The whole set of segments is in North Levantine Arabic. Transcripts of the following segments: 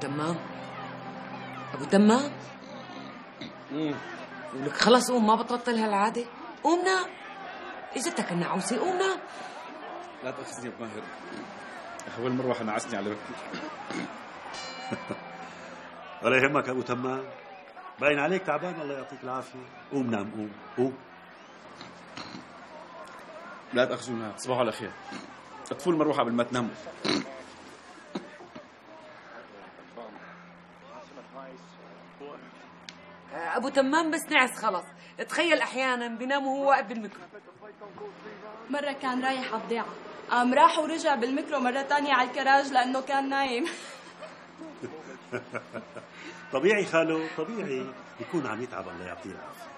تمام ابو تمام. ولك خلص قوم، ما بتبطل هالعاده. قوم نام، اجتك النعوسه، قوم نام. لا تأخذني بماهر، أول مرة نعسني على وقتي. ولا يهمك ابو تمام، باين عليك تعبان، الله يعطيك العافيه. قوم نام، قوم قوم. لا تأخذونا، تصبحوا على خير. اطفوا المروحة قبل ما تناموا. ابو تمام بس نعس خلص. تخيل احيانا بينام وهو واقف بالميكرو. مرة كان رايح على بضيعة، قام راح ورجع بالميكرو مرة تانية على الكراج لأنه كان نايم. طبيعي خالو، طبيعي بيكون عم يتعب، الله يعطيه العافيه.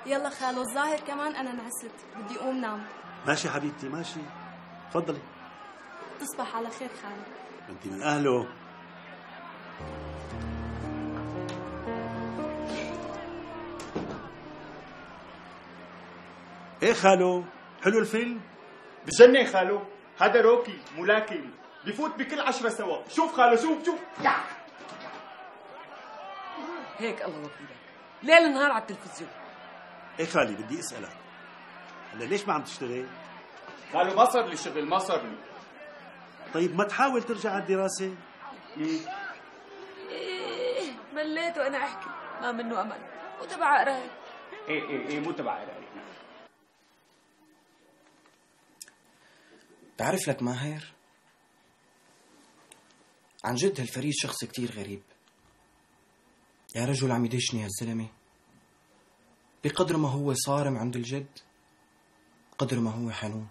يلا خالو، الظاهر كمان أنا نعست، بدي أقوم نام. ماشي حبيبتي ماشي، تفضلي. تصبح على خير خالو. انت من اهله. ايه خالو، حلو الفيلم؟ بجنن خالو، هذا روكي ملاكم بفوت بكل 10 سوا. شوف خالو، شوف هيك الله وكيلك، ليل نهار على التلفزيون. ايه خالي، بدي اسالك هلا ليش ما عم تشتغل؟ خالو ما صار لي شغل، ما صار لي. طيب ما تحاول ترجع على الدراسه؟ إيه مليت وانا احكي، ما منه امل، وتبع قرايه. ايه مو تبع قرايه. بعرف لك ماهر، عن جد هالفريد شخص كتير غريب. يا رجل عم يدشني هالزلمة، بقدر ما هو صارم عند الجد قدر ما هو حنون.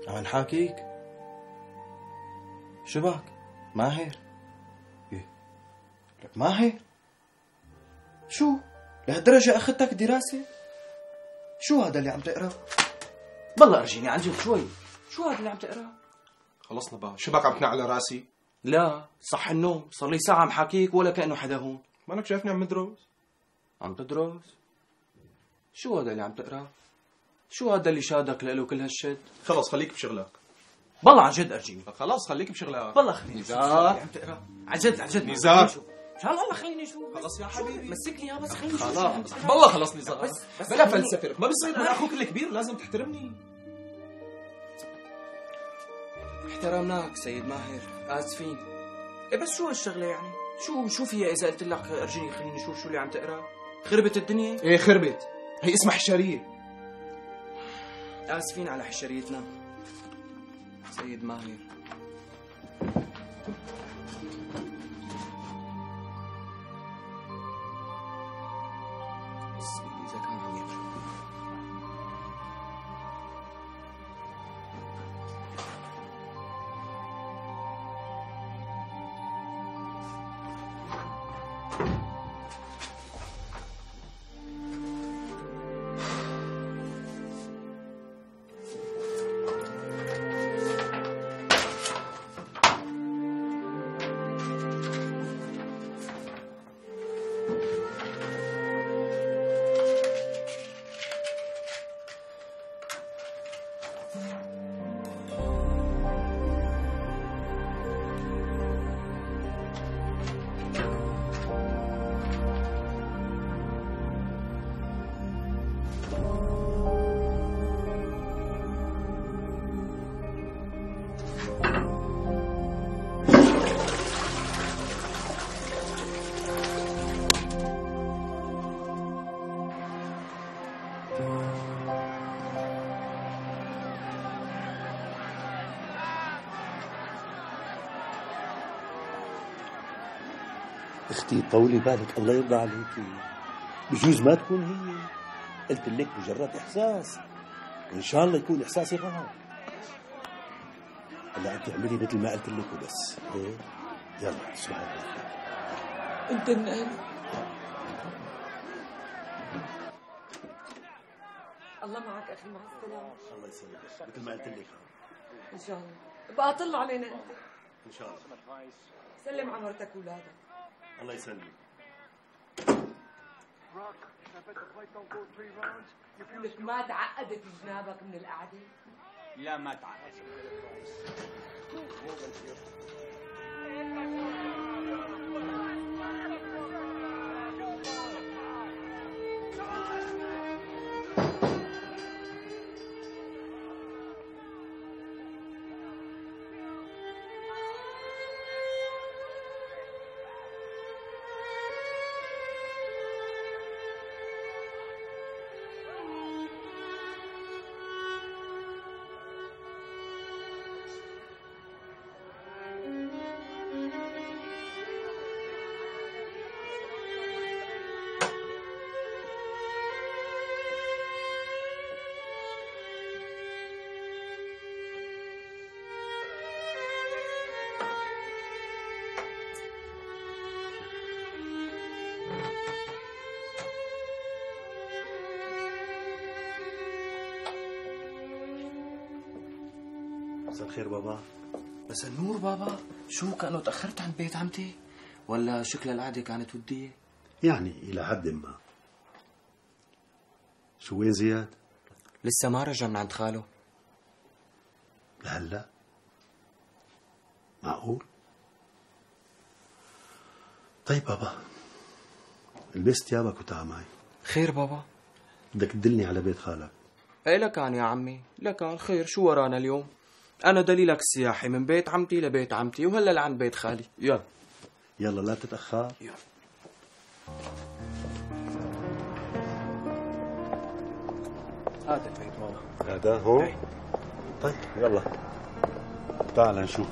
عم نحاكيك، شو بك ماهر؟ إيه لك ماهر، شو لهالدرجة أخذتك دراسة؟ شو هذا اللي عم تقرأ؟ بالله أرجيني عن جد شوي، شو هذا اللي عم تقرأ؟ خلصنا بقى، شو بك عم تنع على راسي؟ لا صح النوم، صار لي ساعة عم حاكيك ولا كأنه حدا هون. مالك شايفني عم بدرس؟ عم تدرس؟ شو هذا اللي عم تقرأ؟ شو هذا اللي شادك له كل هالشد؟ خلص خليك بشغلك. بالله عن جد أرجيني. خلاص خليك بشغلك. بالله خليني نزار عم تقرأ عن جد نزار. مشان الله خليني شوف. خلص يا حبيبي مسكني يا بس خليني شوف. خلاص بالله خلص نزار. بس بلا فلسفة، ما بصير، انا اخوك الكبير لازم تحترمني. احترمناك سيد ماهر، آسفين. إيه بس شو هالشغلة يعني؟ شو فيها إذا قلت لك أرجيني خليني شوف شو اللي عم تقرأ؟ خربت الدنيا؟ ايه خربت، هي اسمها حشرية. آسفين على حشريتنا سيد ماهر. بس إذا كان عم يفهم. اختي طولي بالك، الله يرضى عليكي، بجوز ما تكون هي. قلت لك مجرد احساس، وان شاء الله يكون احساسي غلط. هلا انت اعملي مثل ما قلت لك وبس. ايه يلا تصبحي على خير. انت النقل. الله معك اخي، مع السلامه. الله يسلمك مثل ما قلت لك. ان شاء الله بقى طلع علينا انت. ان شاء الله. سلم على مرتك واولادك. الله يسلمك. لك ما تعقدت جنابك من القعده؟ لا ما تعقد. مساء الخير بابا. بس النور بابا، شو كأنه تأخرت عن بيت عمتي؟ ولا شكل القعدة كانت ودية؟ يعني إلى حد ما. شو وين زياد؟ لسه ما رجع من عند خاله. لهلا؟ معقول؟ طيب بابا، البس ثيابك وتعال معي. خير بابا؟ بدك تدلني على بيت خالك. ايه لكان يا عمي، لكان خير، شو ورانا اليوم؟ أنا دليلك السياحي من بيت عمتي لبيت عمتي وهلا لعند بيت خالي. يلا يلا لا تتأخر. يلا. هذا البيت بابا. هذا هون؟ ايه. طيب يلا تعال نشوف.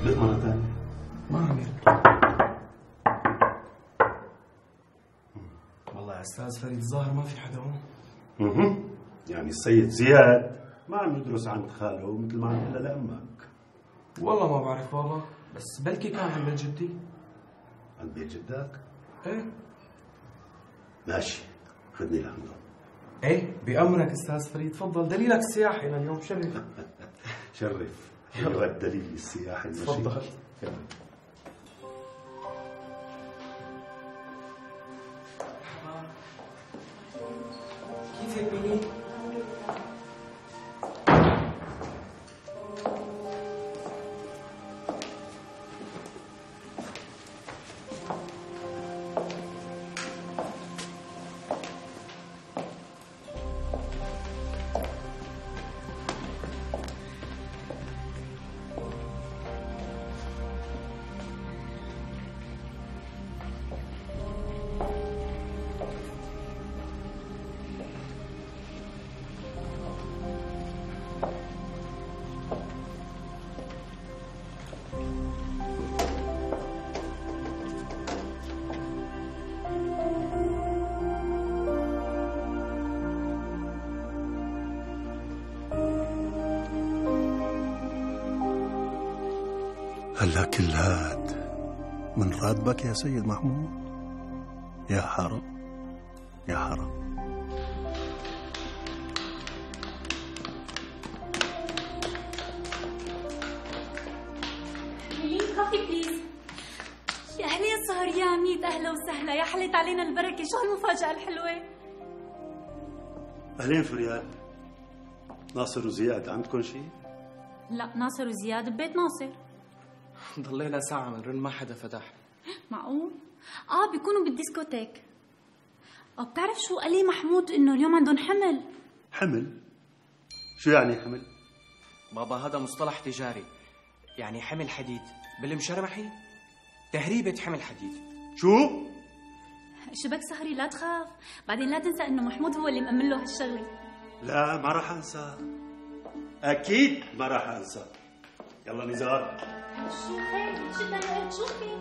ليه مرة ثانية؟ ما عم يرد. والله يا أستاذ فريد الظاهر ما في حدا هون. يعني السيد زياد ما عم يدرس عند خاله مثل ما عم يقول لأمك. والله ما بعرف بابا، بس بلكي كان عند بيت جدي. عند بيت جدك؟ ايه. ماشي، خذني لعنده. ايه بأمرك أستاذ فريد، تفضل، دليلك السياحي لليوم، شرف. شرف. يلا الدليل السياحي المشي. تفضل. كيفك بني؟ هلا كل هاد من راتبك يا سيد محمود؟ يا حرام يا حرام. كوفي بليز. يا أهلا يا سهر، يا عميد، أهلا وسهلا، يا حلت علينا البركة، شو هالمفاجأة الحلوة؟ أهلين فريال. ناصر وزياد عندكم شيء؟ لا، ناصر وزياد ببيت ناصر. ضلينا ساعة بنرن ما حدا فتح. معقول؟ بيكونوا بالديسكوتيك. وبتعرف شو قال لي محمود إنه اليوم عندهم حمل؟ حمل؟ شو يعني حمل؟ بابا هذا مصطلح تجاري، يعني حمل حديد بالمشرمحي، تهريبة حمل حديد. شو؟ شبك سهري لا تخاف، بعدين لا تنسى إنه محمود هو اللي مأمن له هالشغلة. لا ما راح انسى، اكيد ما راح انسى. يلا نزار. شو خير؟ شو بدنا شو في؟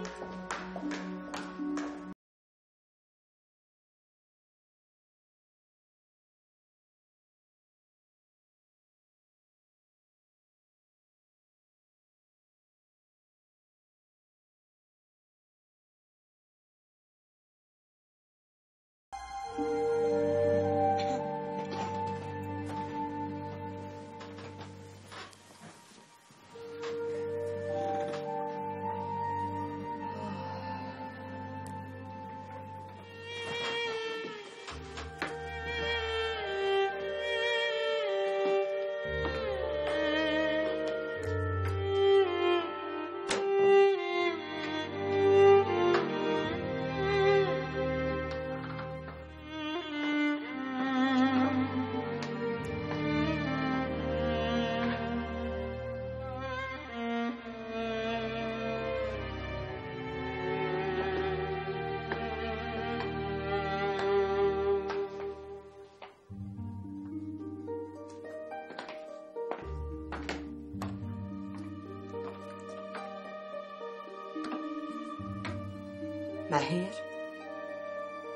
ماهر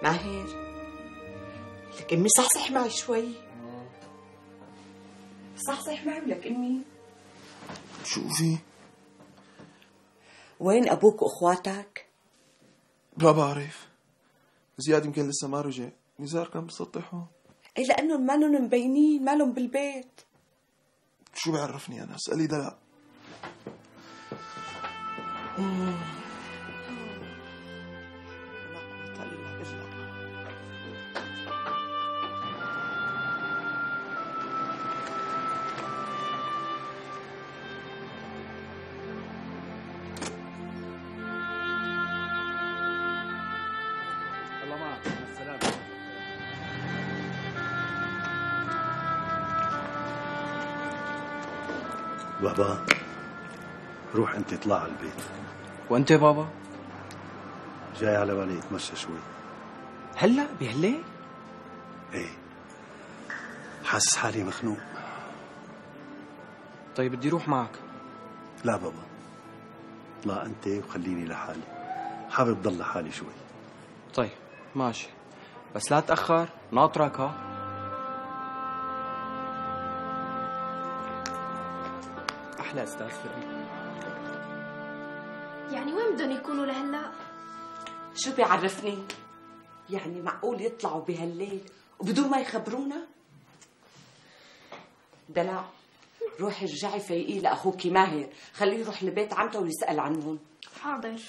ماهر، لك امي صحصح معي شوي. صحصح معي ولك امي. شو في؟ وين ابوك واخواتك؟ ما بعرف. زياد يمكن لسه ما رجع، نزار كان بسطحهم. اي لانهم مالهم مبينين، مالهم بالبيت. شو بعرفني انا؟ اسألي دلع. الله معك، مع السلامة. بابا روح انت اطلع على البيت. وانت بابا؟ جاي على بالي اتمشى شوي. هلا بهالليل؟ ايه حاسس حالي مخنوق. طيب بدي روح معك. لا بابا، لا انت وخليني لحالي، حابب ضل لحالي شوي. طيب ماشي، بس لا تأخر، ناطرك ها. أحلى أستاذ فريد. يعني وين بدهم يكونوا لهلا؟ شو بيعرفني؟ يعني معقول يطلعوا بهالليل وبدون ما يخبرونا؟ دلع، روحي ارجعي فيقي لأخوكي ماهر، خليه يروح لبيت عمته ويسأل عنهم. حاضر.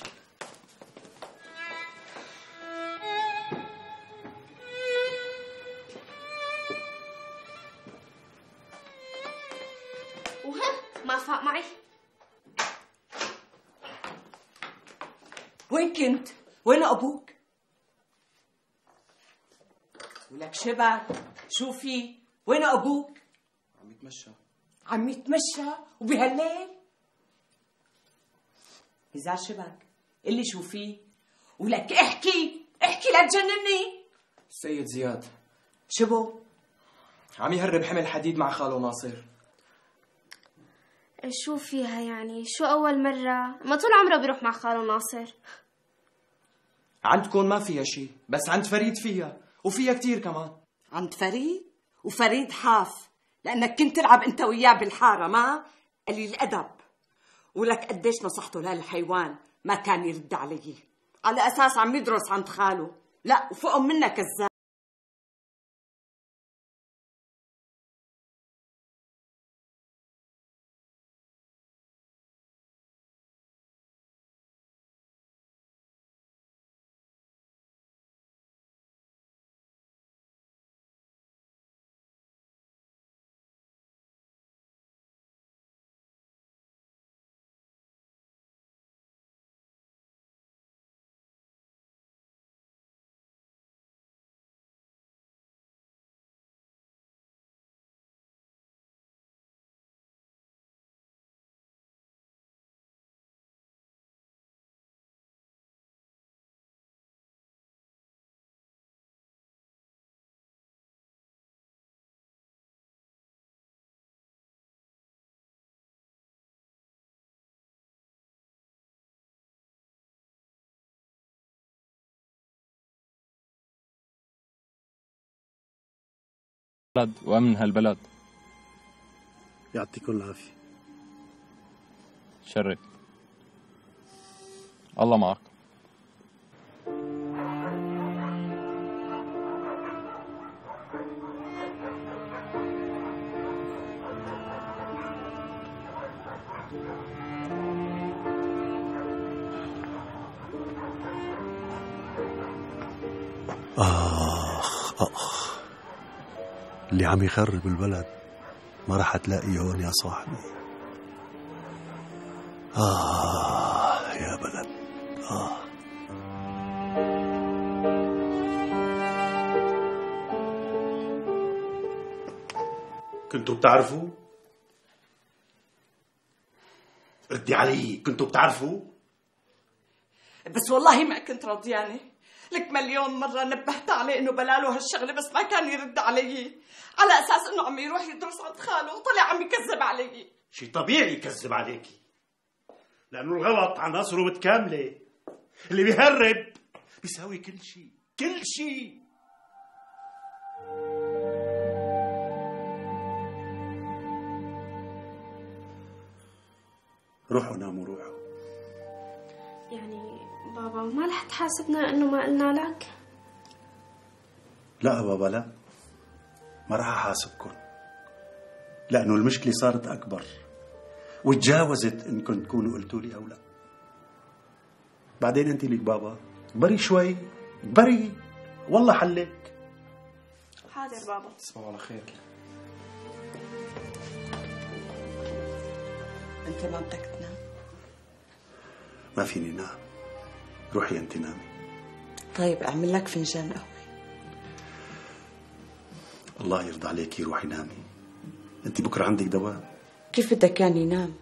ما فاق معي. وين كنت؟ وين أبوك؟ ولك شبك، شو في؟ وين أبوك؟ عم يتمشى. عم يتمشى وبهالليل؟ إذا شبك اللي شو في؟ ولك احكي لا تجنني. السيد زياد. شبو؟ عم يهرب حمل حديد مع خاله ناصر. شو فيها يعني؟ شو أول مرة؟ ما طول عمره بيروح مع خاله ناصر. عندكم ما فيها شيء، بس عند فريد فيها، وفيها كتير كمان. عند فريد؟ وفريد حاف لأنك كنت تلعب أنت وياه بالحارة، ما؟ قليل الأدب. ولك قديش نصحته لهالحيوان ما كان يرد علي، على أساس عم يدرس عند خاله. لا وفوقهم منك كذاب. وأمن هالبلد. يعطيكم العافية. شرف. الله معك. آخ اللي عم يخرب البلد ما رح تلاقيه هون يا صاحبي. يا بلد. كنتوا بتعرفوا؟ ردي علي، كنتوا بتعرفوا؟ بس والله ما كنت راضيانه. لك مليون مرة نبهت عليه انه بلاله هالشغلة بس ما كان يرد علي، على اساس انه عم يروح يدرس عند خاله وطلع عم يكذب علي. شي طبيعي يكذب عليكي، لانه الغلط عناصره متكاملة. اللي بيهرب بيساوي كل شيء. روحوا ناموا روحوا. يعني بابا ما رح تحاسبنا انه ما قلنا لك؟ لا بابا لا، ما راح احاسبكم، لانه المشكلة صارت اكبر وتجاوزت انكم تكونوا قلتوا لي او لا. بعدين انت لك بابا بري شوي، بري والله حلك. حاضر بابا. تصبحوا على خير. انت ما بدك تنام؟ ما فيني نام. روحي انت نامي. طيب اعمل لك فنجان قهوة. الله يرضى عليكي، روحي نامي. انت بكره عندك دواء. كيف بدك يعني نام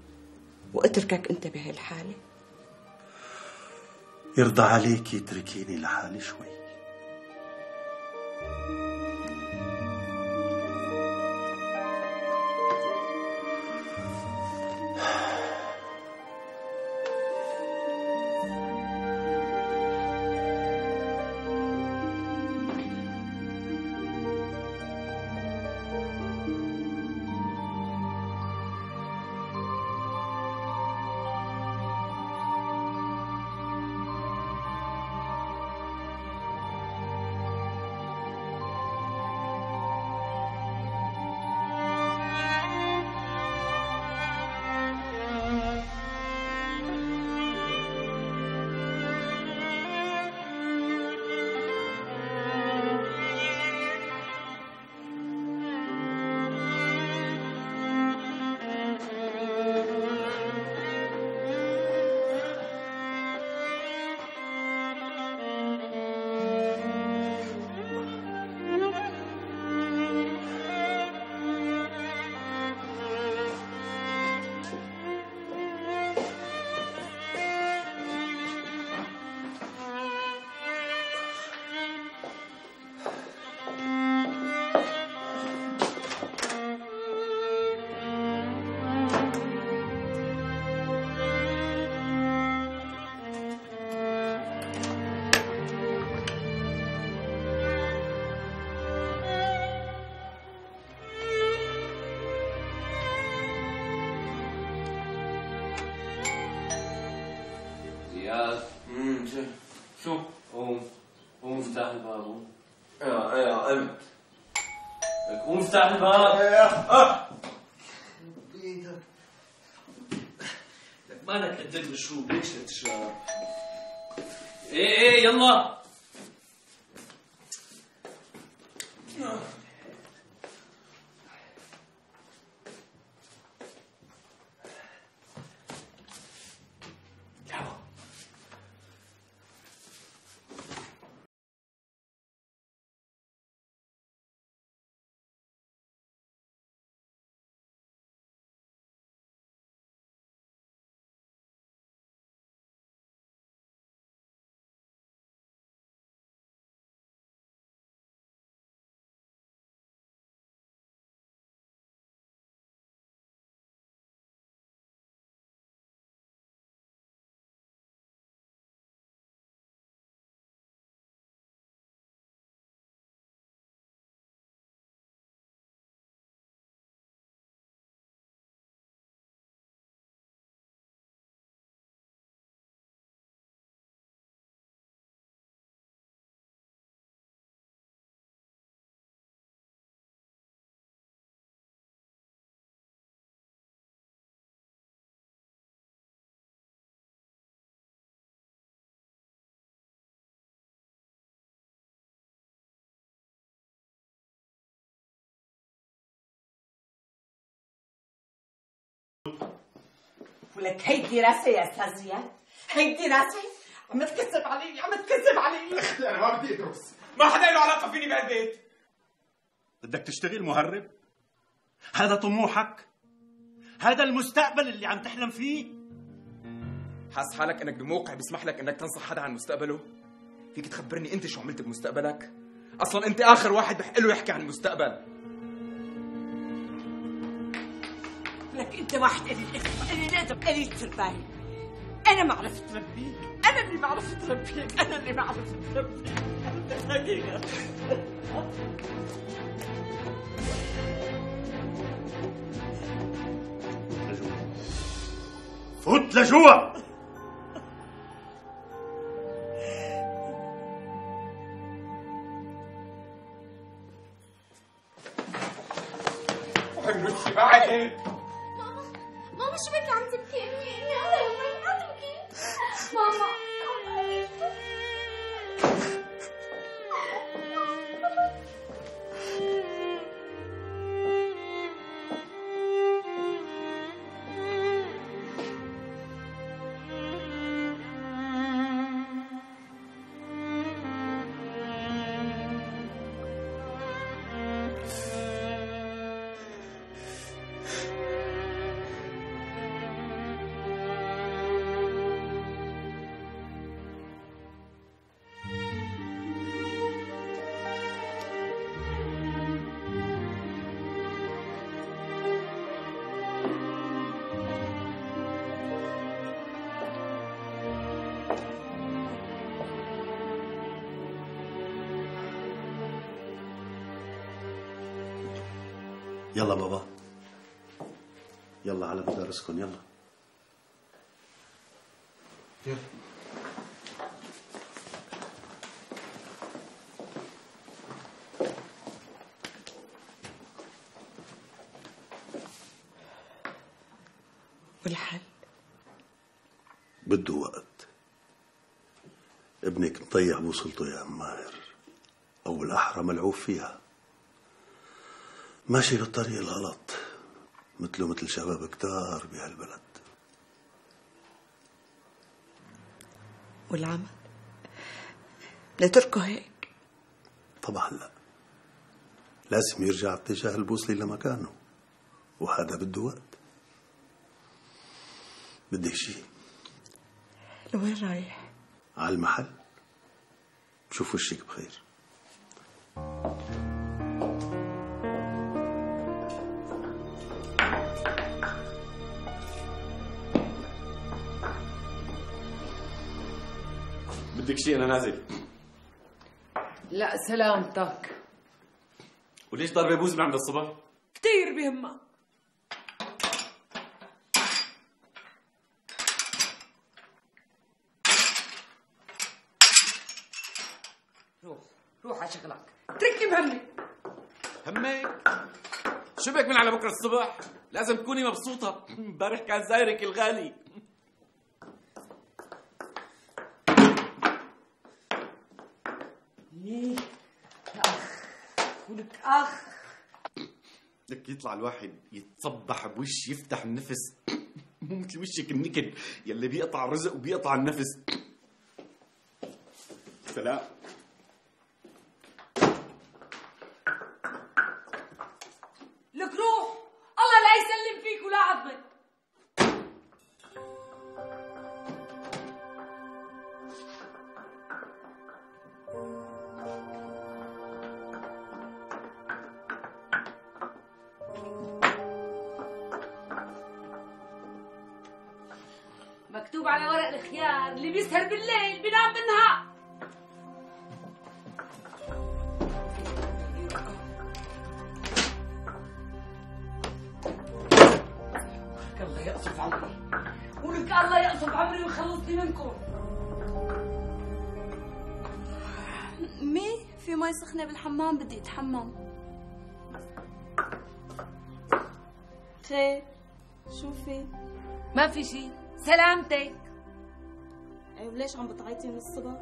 واتركك انت بهالحالة؟ يرضى عليكي اتركيني لحالي شوي. شو؟ قوم افتح الباب. قوم. ايه قمت. قوم افتح الباب. لك مالك قد المشروب، ليش تشرب؟ ايه يلا. ولك هيدي راسي يا استاذ زياد، هيدي راسي عم تكذب علي، عم تكذب علي. اختي انا ما بدي ادرس، ما حدا له علاقه فيني بهالبيت. بدك تشتغل مهرب؟ هذا طموحك؟ هذا المستقبل اللي عم تحلم فيه؟ حاس حالك انك بموقع بيسمح لك انك تنصح حدا عن مستقبله؟ فيك تخبرني انت شو عملت بمستقبلك؟ اصلا انت اخر واحد بحق له يحكي عن المستقبل. لك انت واحد قليل الادب قليل التربايه. انا ما عرفت ربيك، انا اللي ما عرفت ربيك، انا اللي ما عرفت ربيك. الحقيقه فوت لجوا. وحنوشي بعدين. ماما شو بك عم تبكي؟ امي الله يهمك عم تبكي. ماما يلا بابا، يلا على مدارسكم، يلا. والحل بده وقت. ابنك مطيع بوصلته يا ام ماهر، او الاحرى ملعوب فيها، ماشي بالطريق الغلط مثله مثل شباب كتار بهالبلد. والعمل نتركه هيك؟ طبعا لا، لازم يرجع اتجاه البوصلة لمكانه، وهذا بده وقت. بدك شيء؟ لوين رايح؟ على المحل، شوف وشك بخير. بدك شيء انا نازل. لا سلامتك. وليش ضاربه بوز من عند الصبح؟ كتير بهمك. روح على شغلك، اتركني بهمي. همك؟ شو بك من على بكره الصبح؟ لازم تكوني مبسوطة، امبارح كان زايرك الغالي. ليه يا أخ؟ ولك أخ بدك يطلع الواحد يتصبح بوش يفتح النفس، مو مثل وشك النكد يلي بيقطع الرزق وبيقطع النفس. سلام. لك روح، الله لا يسلم فيك ولا عظمك. مكتوب على ورق الخيار اللي بيسهر بالليل بينام بالنهار. الله يقصف عمري، ولك الله يقصف عمري ويخلصني منكم. أمي في مي سخنة بالحمام بدي أتحمم. خير شو في؟ ما في شي، سلامتك. أيوة ليش عم بتعيطي من الصبح؟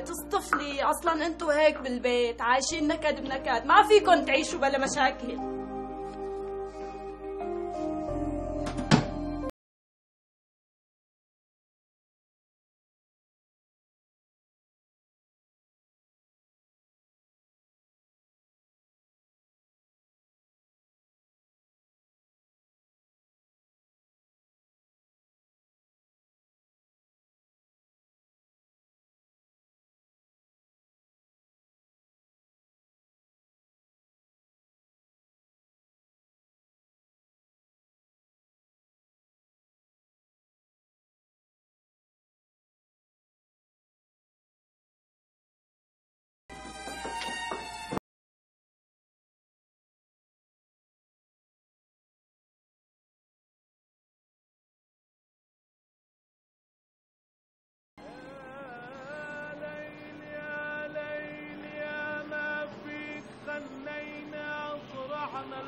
تصطفلي، أصلا أنتوا هيك بالبيت عايشين نكد بنكد، ما فيكن تعيشوا بلا مشاكل.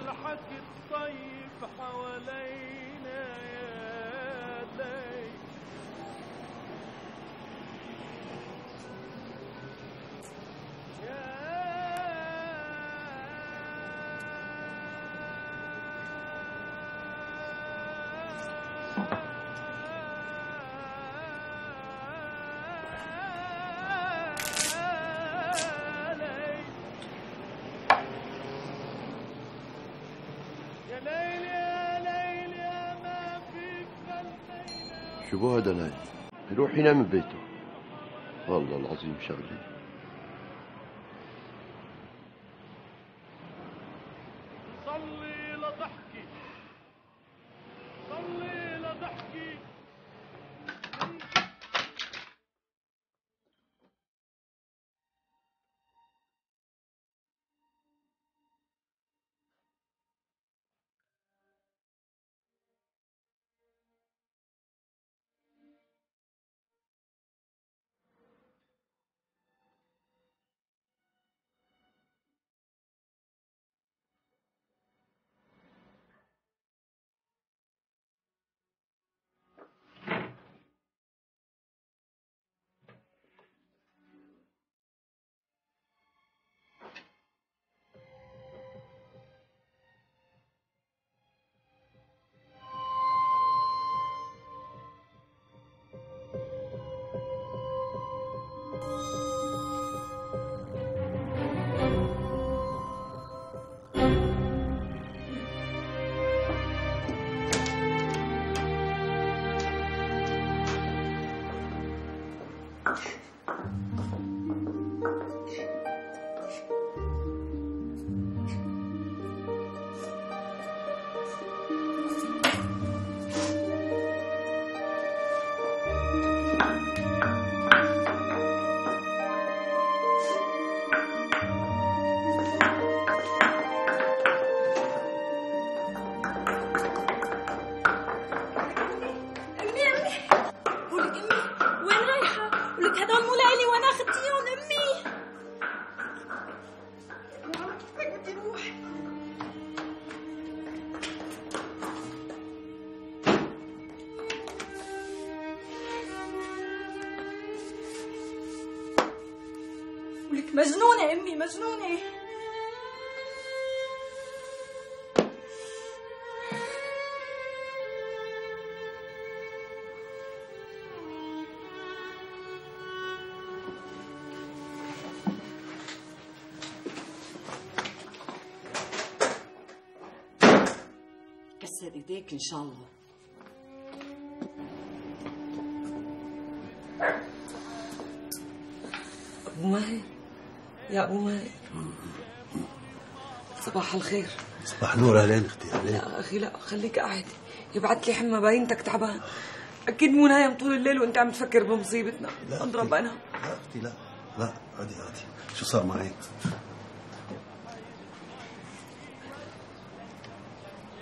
والحكي الطيب حوالينا يا ليل. شو بو هذا نايم؟ يروح ينام ببيته. والله العظيم شغلي. صلي لضحكي صلي لضحكي. ولك مجنونة أمي مجنونة. كسر ايديك ان شاء الله. ابو ماهر يا ابو ماهر، صباح الخير. صباح النور. اهلين اختي. اهلين. لا اخي لا، خليك قاعد. يبعت لي حمى باينتك تعبان. اكيد مو نايم طول الليل وانت عم تفكر بمصيبتنا. اضرب انا. لا اختي لا لا، عادي عادي. شو صار معي؟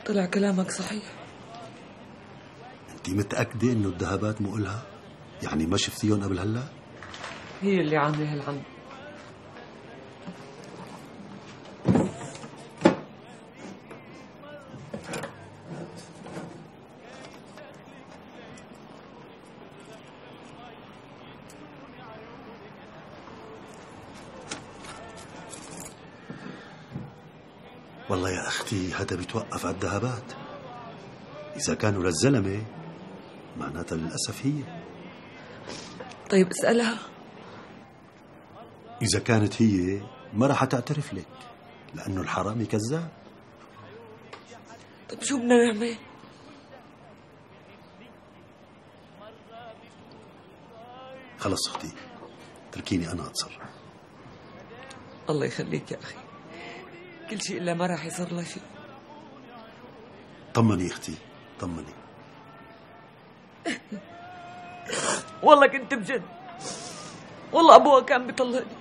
طلع كلامك صحيح. انت متأكدة انه الذهبات مو إلها؟ يعني ما شفتيهم قبل هلا؟ هي اللي عامله هالعمل. والله يا أختي هذا بيتوقف على الذهبات. إذا كانوا للزلمة معناتها للأسف هي. طيب اسألها. إذا كانت هي ما راح تعترف لك، لأنه الحرامي كذاب. طيب شو بدنا نعمل؟ خلص أختي، تركيني أنا أتصرف. الله يخليك يا أخي، كل شيء إلا ما راح يصير له شيء. طمني أختي طمني. والله كنت بجد، والله أبوها كان بيطلقني.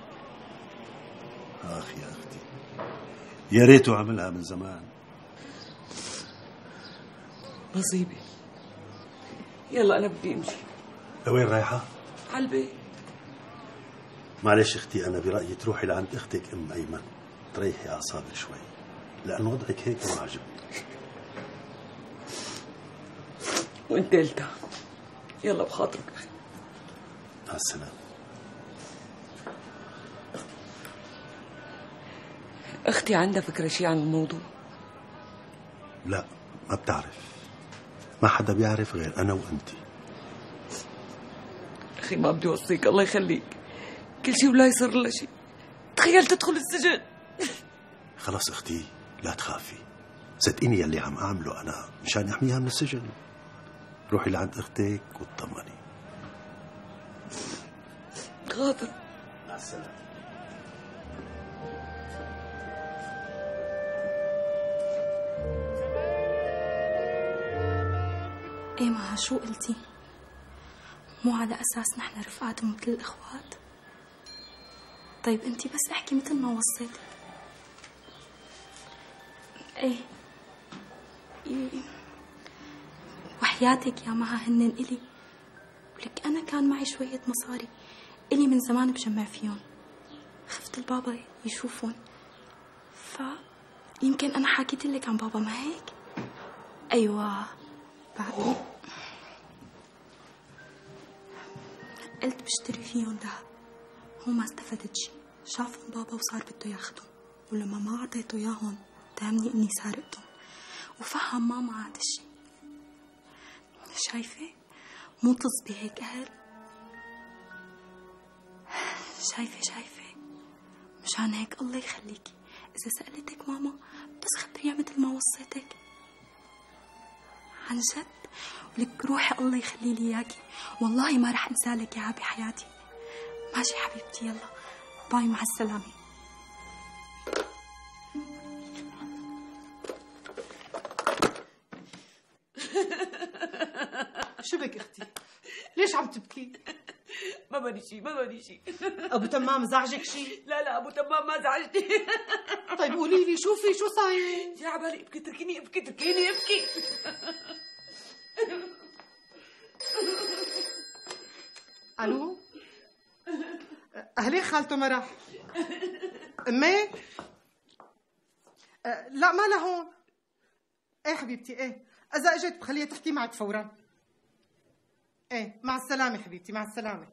آخ يا أختي، يا ريته عملها من زمان. نصيبي. يلا أنا بدي أمشي. لوين رايحة؟ على البيت. معلش أختي، أنا برأيي تروحي لعند أختك أم أيمن تريحي أعصابك شوي. لأن وضعك هيك ما عجبني. وانت قلتها. يلا بخاطرك أخي. مع السلامة. أختي عندها فكرة شي عن الموضوع؟ لا، ما بتعرف. ما حدا بيعرف غير أنا وأنتي. أخي ما بدي أوصيك، الله يخليك. كل شي ولا يصير لها شي. تخيل تدخل السجن. خلاص أختي لا تخافي، صدقيني يلي عم أعمله أنا مشان أحميها من السجن. روحي لعند أختك واطمني. غادر. مع السلامة. ايه ما شو قلتي؟ مو على أساس نحن رفقات مثل الإخوات؟ طيب انتي بس احكي مثل ما وصيتك. ايه وحياتك يا مها هنن إلي، ولك أنا كان معي شوية مصاري إلي من زمان بجمع فيهم. خفت البابا يشوفون، فيمكن أنا حكيت لك عن بابا، ما هيك؟ أيوة بعدين قلت بشتري فيهم دهب. هو ما استفدت شي، شافهم بابا وصار بده ياخدهم، ولما ما عطيته ياهن تهمني اني سارقتهم، وفهم ماما هذا الشي. شايفة مو تصبي هيك أهل؟ شايفة مشان هيك الله يخليكي إذا سألتك ماما بس خبريها مثل ما وصيتك عن جد. ولك روحي الله يخلي لي اياكي، والله ما رح انسالك اياها بحياتي. ماشي حبيبتي، يلا باي، مع السلامة. شو بك اختي؟ ليش عم تبكي؟ ما بدي شي. ابو تمام زعجك شي؟ لا ابو تمام ما زعجني. طيب قولي لي شو صاير؟ يا عبالي ابكي، تركيني ابكي. الو، اهلي خالته مرح. امي لا ما لهون. ايه حبيبتي، ايه اذا اجت بخليها تحكي معك فورا. ايه مع السلامه حبيبتي، مع السلامه.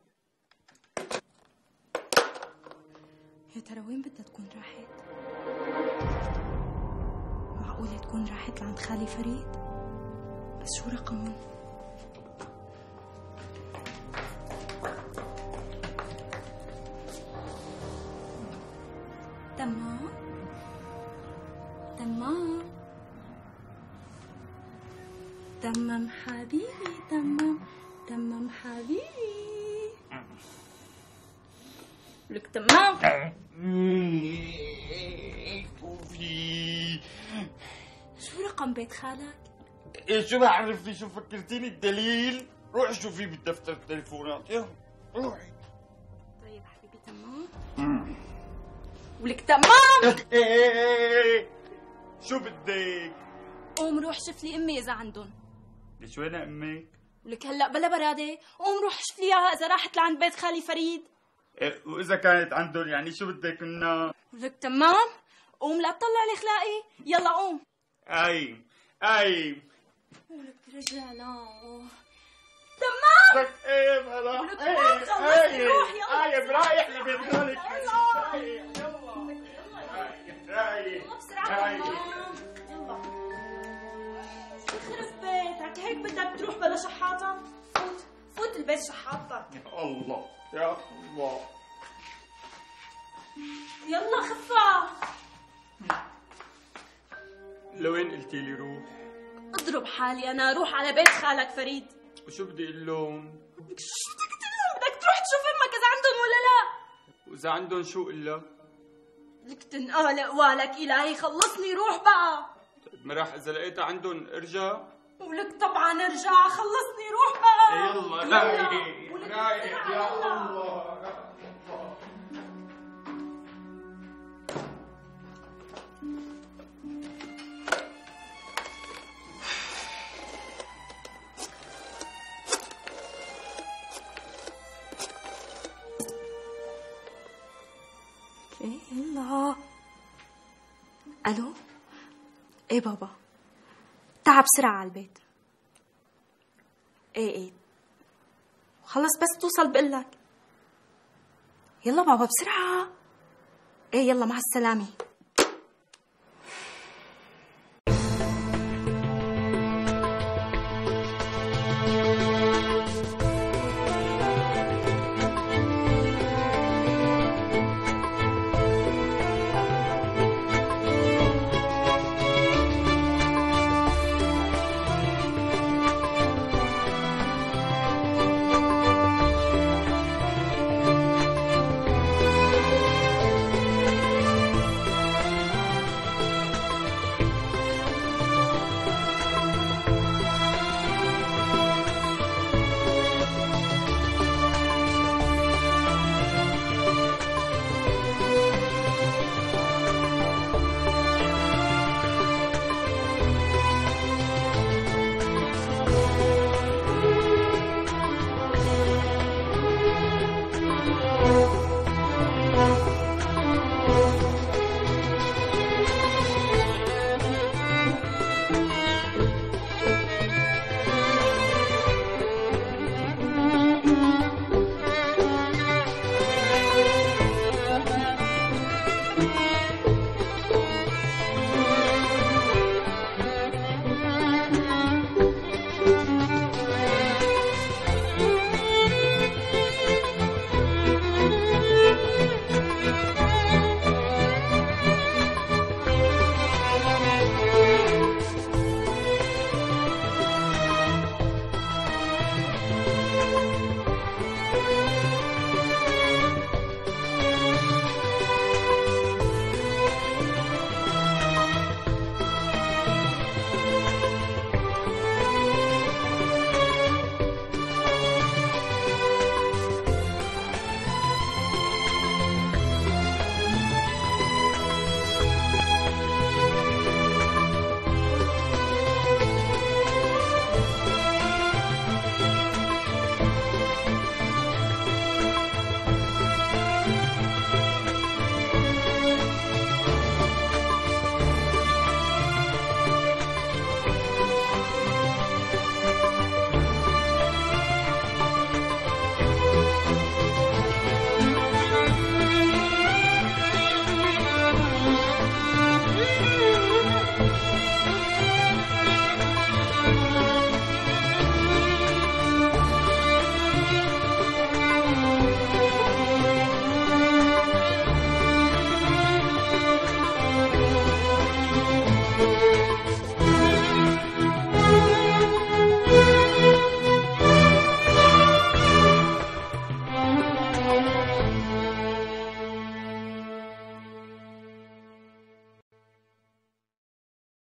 يا ترى وين بدها تكون راحت؟ معقولة تكون راحت لعند خالي فريد؟ بس شو رقمه؟ تمام حبيبي، تمام حبيبي. لك تمام. شو رقم بيت خالك؟ ايه شو بعرفني، شو فكرتيني الدليل؟ روحي شوفي بالدفتر التليفونات، يلا روحي. طيب حبيبي تمام. ولك تمام. ايه شو بدك؟ قوم روح شوف لي امي اذا عندهم. ليش وينها امك؟ ولك هلا بلا برادة، قوم روح شوف لي اياها اذا راحت لعند بيت خالي فريد. إيه واذا كانت عندهم يعني شو بدك منها؟ ولك تمام. قوم لا تطلع لي خلاقي، يلا قوم. اي ولك رجعنا. تمام. لك ايه بلا. ولك تمام خلصني، روح يلا. رايح لبيت خالك. يلا بسرعة يلا. يخرب بيتك، هيك بدك تروح بلا شحاطة؟ فوت البيت شحاطتك. يا الله يا الله. يلا خفة. لوين قلتي لي روح؟ اضرب حالي انا، روح على بيت خالك فريد. وشو بدي اقول لهم؟ شو بدك تقول لهم؟ بدك تروح تشوف امك اذا عندهم ولا لا. واذا عندهم شو الا؟ لك تنقال قوالك الهي، خلصني روح بقى. ما راح اذا لقيتها عندهم ارجع. ولك طبعا ارجع، خلصني روح بقى. يلا رايح يا الله. يلا. الو ايه بابا، تعب بسرعة على البيت. ايه خلص بس توصل بقلك. يلا بابا بسرعة. ايه يلا مع السلامة.